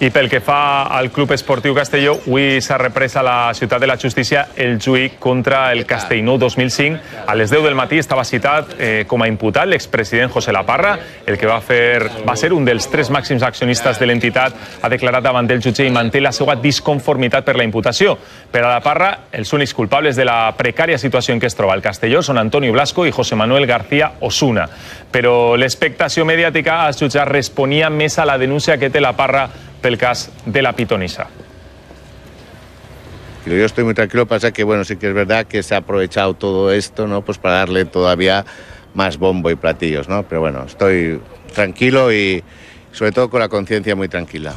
I pel que fa al Club Esportiu Castelló, avui s'ha reprès a la Ciutat de la Justícia el juí contra el Castellnou 2005. A les 10 del matí estava citat com a imputat l'expresident José Laparra, el que va ser un dels 3 màxims accionistes de l'entitat, ha declarat davant del jutge i manté la seva disconformitat per la imputació. Per a Laparra, els únics culpables de la precària situació en què es troba el Castelló són Antonio Blasco i José Manuel García Osuna. Però l'expectació mediàtica als jutjats responia més a la denúncia que té Laparra pel cas de la pitonisa. Yo estoy muy tranquilo, pasa que bueno, sí que es verdad que se ha aprovechado todo esto, ¿no? Pues para darle todavía más bombo y platillos, ¿no? Pero bueno, estoy tranquilo y sobre todo con la conciencia muy tranquila.